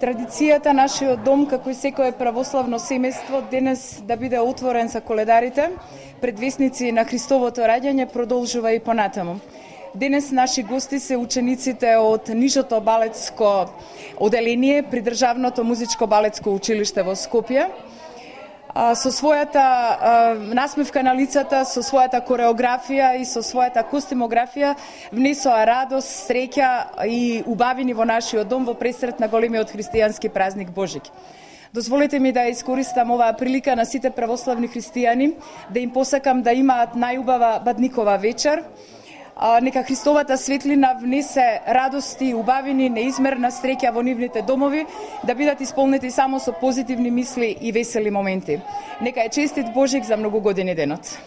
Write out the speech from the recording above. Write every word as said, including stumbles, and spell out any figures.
Традицијата нашиот дом, како и секое православно семејство, денес да биде отворен за коледарите, предвесници на Христовото раѓање, продолжува и понатаму. Денес наши гости се учениците од Нижото балетско оделение при Државното музичко балетско училиште во Скопје. Со својата насмевка на лицата, со својата кореографија и со својата костимографија внесоа радост, среќа и убавини во нашиот дом во пресрет на големиот христијански празник Божик. Дозволете ми да искористам оваа прилика на сите православни христијани да им посакам да имаат најубава бадникова вечер. Нека Христовата светлина внесе радости и убавини, неизмерна среќа во нивните домови, да бидат исполнети само со позитивни мисли и весели моменти. Нека е честит Божик за многу години денот.